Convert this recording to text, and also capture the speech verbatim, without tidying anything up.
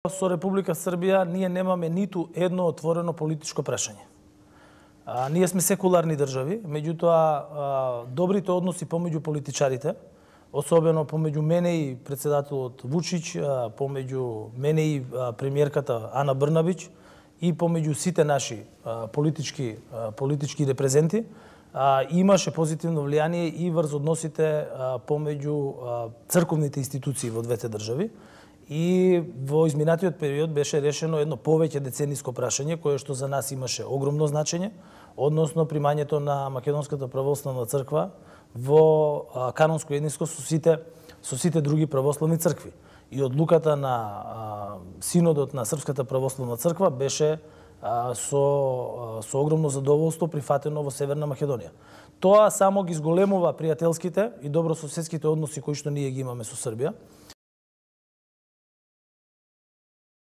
Со Република Србија ние немаме ниту едно отворено политичко прашање. А, ние сме секуларни држави, меѓутоа а, добрите односи помеѓу политичарите, особено помеѓу мене и председателот Вучич, а, помеѓу мене и а, премиерката Ана Брнабич и помеѓу сите наши а, политички а, политички репрезенти, а, имаше позитивно влијание и врз односите а, помеѓу а, црковните институции во двете држави. И во изминатиот период беше решено едно повеќе децениско прашање кое што за нас имаше огромно значење, односно примањето на Македонската православна црква во а, канонско единство со сите со сите други православни цркви. И одлуката на а, синодот на Српската православна црква беше а, со а, со огромно задоволство прифатено во Северна Македонија. Тоа само ги зголемува пријателските и добрососедските односи кои што ние ги имаме со Србија.